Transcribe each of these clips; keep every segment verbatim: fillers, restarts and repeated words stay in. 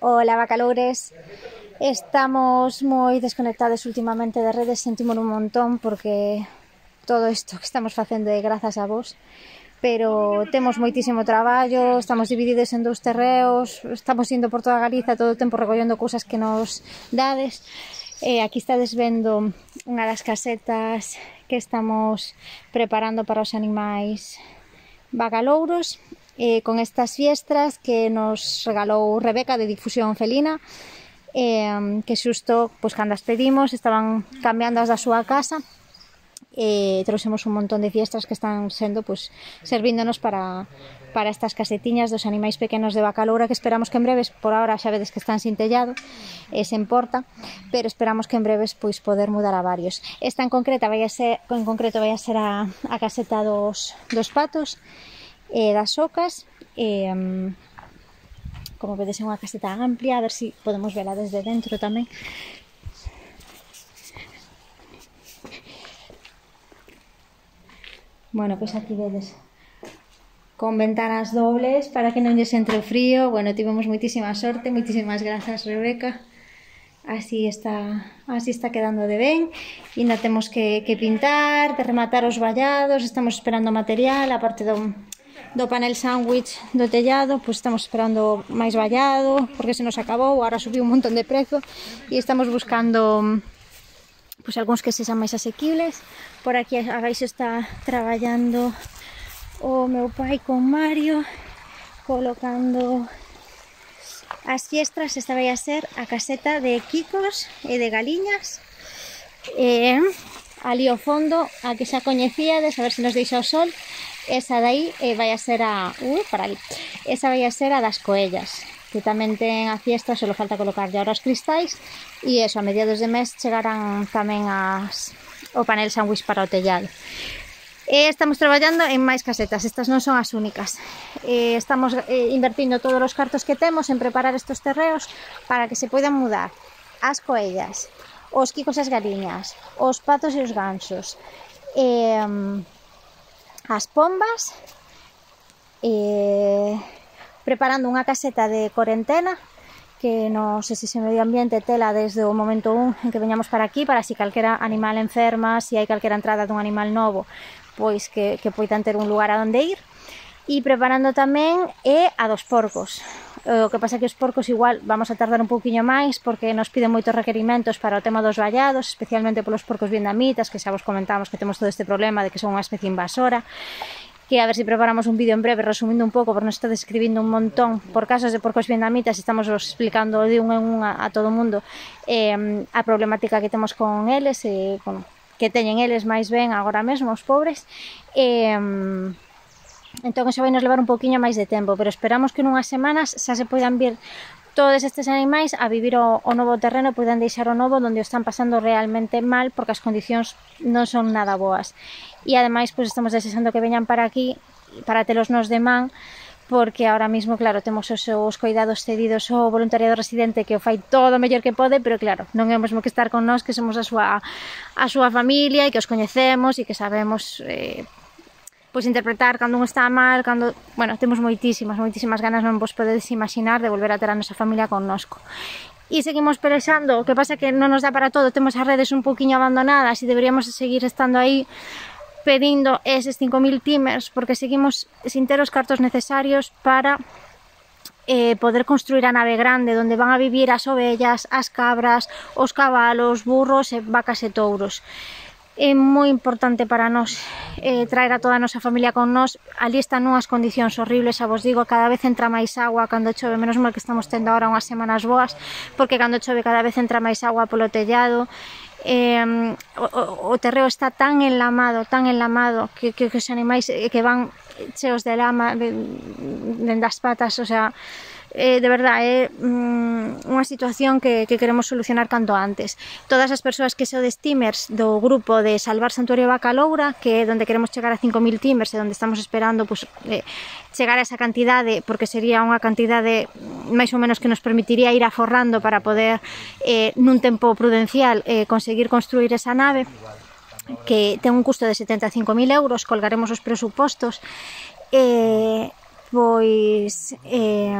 Hola, bacaloures. Estamos moi desconectados últimamente de redes, sentimos un montón porque todo isto que estamos facendo é grazas a vos, pero temos moitísimo traballo, estamos divididos en dous terreos, estamos indo por toda Galiza todo o tempo recollendo cousas que nos dades. E aquí estades vendo unha das casetas que estamos preparando para os animais bacalouros, eh, con estas fiestras que nos regalou Rebeca de Difusión Felina, eh, que xusto, pois, cando as pedimos estaban cambiando as da súa casa e trouxemos un montón de fiestras que están sendo, pois, servíndonos para, para estas casetiñas dos animais pequenos de Bacaloura, que esperamos que en breves, por ahora xa vedes que están sin tellado e sen porta, pero esperamos que en breves pois poder mudar a varios. Esta en concreta vai a ser, en concreto vai a ser a, a caseta dos, dos patos e das ocas, e, um, como vedes é unha caseta amplia, a ver se si podemos vela desde dentro tamén. Bueno, pois aquí vedes con ventanas dobles para que non lles entre o frío. Bueno, tivemos moitísima sorte, moitísimas grazas, Rebeca. Así está, así está quedando de ben. E ainda temos que, que pintar, de rematar os vallados, estamos esperando material, a parte do, do panel sándwich do tellado, pois estamos esperando máis vallado, porque se nos acabou, agora subiu un montón de prezo, e estamos buscando pois algúns que sexan máis asequibles. Por aquí abaixo está traballando o meu pai con Mario, colocando as fiestras. Esta vai a ser a caseta de quicos e de galiñas. E ali ao fondo, a que xa coñecíades, a ver se nos deixa o sol, esa de aí eh, vai a ser a... Uh, para ali. Esa vai a ser a das coellas, que tamén ten a fiesta, só falta colocar ya os cristais, e eso, a mediados de mes chegarán tamén as, o panel sándwich para o tellado. E estamos traballando en máis casetas, estas non son as únicas. E estamos eh, invertindo todos os cartos que temos en preparar estos terreos para que se poidan mudar as coellas, os quicos e as galiñas, os patos e os gansos, e, um, as pombas, e preparando unha caseta de corentena que non sei se se medio ambiente tela desde o momento un en que veñamos para aquí, para si calquera animal enferma, si hai calquera entrada dun animal novo, pois que, que poidan ter un lugar a onde ir. E preparando tamén e a dos porcos. O que pasa que os porcos igual vamos a tardar un pouquiño máis porque nos piden moitos requerimentos para o tema dos vallados, especialmente polos porcos vietnamitas, que xa vos comentamos que temos todo este problema de que son unha especie invasora, que a ver se si preparamos un vídeo en breve resumindo un pouco, porque nos está describindo un montón por casos de porcos vietnamitas, estamos explicando de un en un a, a todo o mundo eh, a problemática que temos con eles, e, bueno, que teñen eles máis ben agora mesmo, os pobres. E, entón xa vai nos levar un pouquiño máis de tempo, pero esperamos que nunhas semanas xa se poidan vir todos estes animais a vivir o, o novo terreno, poidan deixar o novo onde o están pasando realmente mal, porque as condicións non son nada boas. E ademais, pois estamos desexando que veñan para aquí para telos nos de man, porque ahora mismo, claro, temos os, os cuidados cedidos ao voluntariado residente, que o fai todo o mellor que pode, pero claro, non é o mesmo que estar con nós, que somos a súa, a súa familia e que os coñecemos e que sabemos eh, pois interpretar cando un está mal, cando... Bueno, temos moitísimas, moitísimas ganas, non vos podedes imaginar, de volver a ter a nosa familia connosco. E seguimos pelexando, o que pasa que non nos dá para todo, temos as redes un pouquiño abandonadas e deberíamos seguir estando aí pedindo eses cinco mil timers, porque seguimos sin ter os cartos necesarios para eh, poder construir a nave grande onde van a vivir as ovellas, as cabras, os cabalos, burros e vacas e touros. É moi importante para nós eh, traer a toda a nosa familia con nós. Ali están nunhas condicións horribles, xa vos digo, cada vez entra máis agua cando chove, menos mal que estamos tendo agora unhas semanas boas, porque cando chove cada vez entra máis agua polo tellado. Eh, o, o terreo está tan enlamado, tan enlamado, que, que, que os animais que van cheos de lama dende as patas, o sea, eh, de verdade é mm, unha situación que, que queremos solucionar canto antes. Todas as persoas que sodes timers do grupo de Salvar Santuario Bacaloura, que é onde queremos chegar a cinco mil timers e onde estamos esperando pues, eh, chegar a esa cantidade, porque sería unha cantidade máis ou menos que nos permitiría ir aforrando para poder eh, nun tempo prudencial eh, conseguir construir esa nave, que ten un custo de setenta e cinco mil euros, colgaremos os presupostos. E pois eh,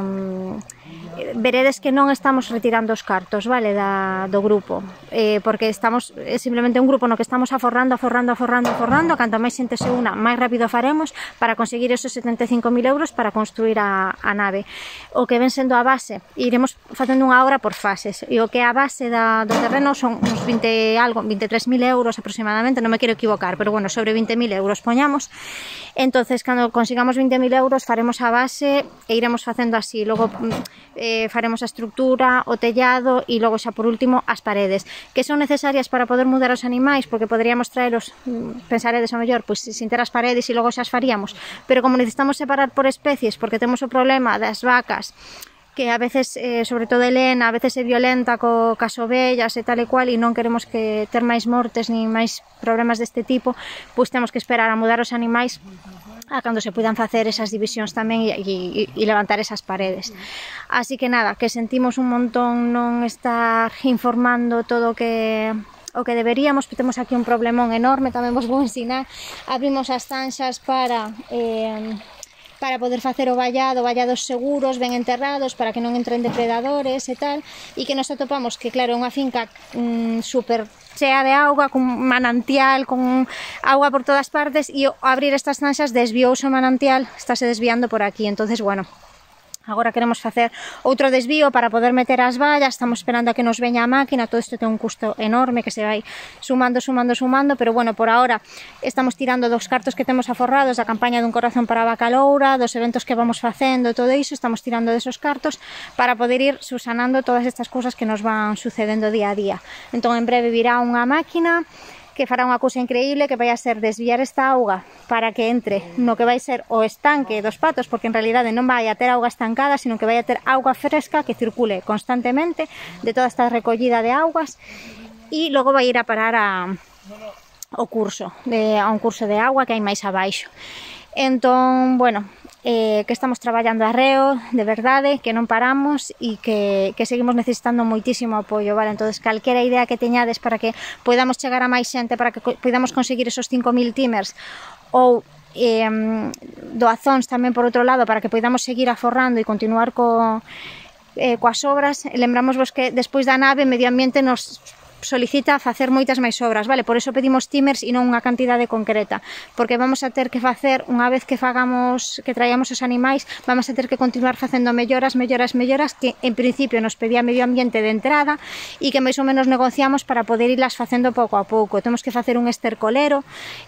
veredes que non estamos retirando os cartos, vale, da, do grupo, eh, porque estamos, é simplemente un grupo no que estamos aforrando, aforrando, aforrando, aforrando, canto máis xente se una, máis rápido faremos para conseguir esos setenta e cinco mil euros para construir a, a nave. O que ven sendo a base, iremos facendo unha obra por fases, e o que é a base da, do terreno son uns vinte algo, veintitrés mil euros aproximadamente, non me quero equivocar, pero bueno, sobre vinte mil euros poñamos. Entonces, cando consigamos vinte mil euros faremos a base e iremos facendo así, logo eh, faremos a estructura, o tellado e logo xa por último as paredes, que son necesarias para poder mudar os animais, porque poderíamos traelos, pensaredes ao mellor, pois sin ter as paredes e logo xa as faríamos, pero como necesitamos separar por especies, porque temos o problema das vacas, que a veces, eh, sobre todo Elena, a veces é violenta co, cas ovellas e tal e cual, e non queremos que ter máis mortes ni máis problemas deste tipo, pois temos que esperar a mudar os animais a cando se puidan facer esas divisións tamén e, e, e levantar esas paredes. Así que nada, que sentimos un montón non estar informando todo o que o que deberíamos, temos aquí un problemón enorme, tamén vos vou ensinar. Abrimos as zanxas para eh, para poder facer o vallado, vallados seguros, ben enterrados, para que non entren depredadores e tal, e que nos atopamos que, claro, é unha finca mmm, super chea de auga, con manantial, con auga por todas partes, e ao abrir estas zanxas desviouse o manantial, estáse desviando por aquí. Entonces, bueno, agora queremos facer outro desvío para poder meter as vallas, estamos esperando a que nos veña a máquina, todo isto ten un custo enorme que se vai sumando, sumando, sumando, pero bueno, por ahora estamos tirando dos cartos que temos aforrados da campaña dun corazón para a Bacaloura, dos eventos que vamos facendo, todo iso, estamos tirando desos cartos para poder ir subsanando todas estas cousas que nos van sucedendo día a día. Entón, en breve virá unha máquina que fará unha cousa increíble, que vai a ser desviar esta auga para que entre no que vai ser o estanque dos patos, porque en realidade non vai a ter auga estancada, sino que vai a ter auga fresca que circule constantemente de toda esta recollida de augas, e logo vai ir a parar a, o curso, de, a un curso de agua que hai máis abaixo. Entón, bueno, eh, que estamos traballando arreo, de verdade, que non paramos e que, que seguimos necesitando moitísimo apoio, vale? Entón, calquera idea que teñades para que podamos chegar a máis xente, para que podamos conseguir esos cinco mil timers, ou eh, doazóns tamén por outro lado, para que podamos seguir aforrando e continuar co, eh, coas obras. Lembramos vos que despois da nave, Medio Ambiente nos solicita facer moitas máis obras, vale? Por eso pedimos timers e non unha cantidade concreta, porque vamos a ter que facer, unha vez que fagamos, que traíamos os animais, vamos a ter que continuar facendo melloras, melloras, melloras, que en principio nos pedía Medio Ambiente de entrada e que máis ou menos negociamos para poder irlas facendo pouco a pouco. Temos que facer un estercolero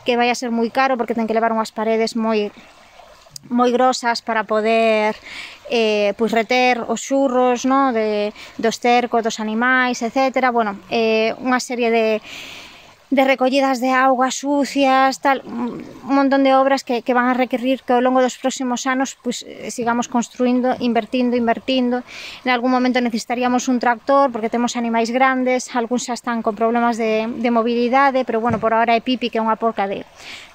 que vai a ser moi caro, porque ten que levar unhas paredes moi moi grosas para poder eh, pues reter os xurros, no? de, do esterco, dos animais, etcétera. Bueno, eh, unha serie de de recollidas de auga sucias, tal, un montón de obras que, que van a requerir que ao longo dos próximos anos pues, sigamos construindo, invertindo, invertindo. En algún momento necesitaríamos un tractor porque temos animais grandes, algúns xa están con problemas de, de mobilidade, pero bueno, por ahora é Pipi, que é unha porca de,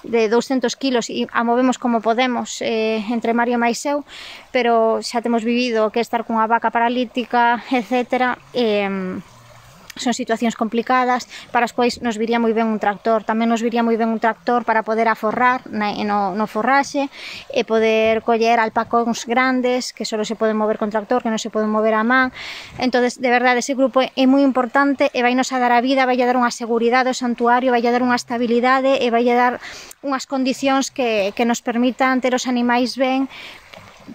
de douscentos kilos e a movemos como podemos eh, entre Mario máis eu, pero xa temos vivido que estar cunha vaca paralítica, etcétera, e son situacións complicadas para as quais nos viría moi ben un tractor. Tamén nos viría moi ben un tractor para poder aforrar no, no forraxe e poder coller alpacóns grandes que só se poden mover con tractor, que non se poden mover a man. Entonces, de verdade, ese grupo é moi importante e vai nos a dar a vida, vai a dar unha seguridade ao santuario, vai a dar unha estabilidade e vai a dar unhas condicións que, que nos permitan ter os animais ben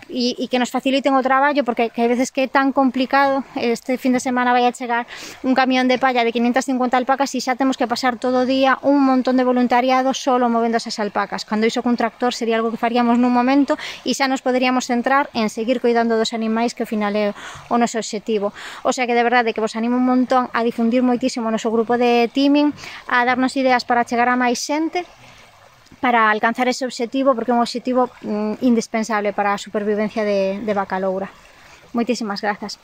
e, e que nos faciliten o traballo, porque que hai veces que é tan complicado. Este fin de semana vai a chegar un camión de palla de quinientas cincuenta alpacas e xa temos que pasar todo o día un montón de voluntariado solo movendo esas alpacas, cando iso con tractor sería algo que faríamos nun momento e xa nos poderíamos centrar en seguir cuidando dos animais, que ao final é o noso obxectivo. O sea que de verdade que vos animo un montón a difundir moitísimo o noso grupo de teaming, a darnos ideas para chegar a máis xente, para alcanzar ese obxectivo, porque é un obxectivo mm, indispensable para a supervivencia de, de Bacaloura. Moitísimas grazas.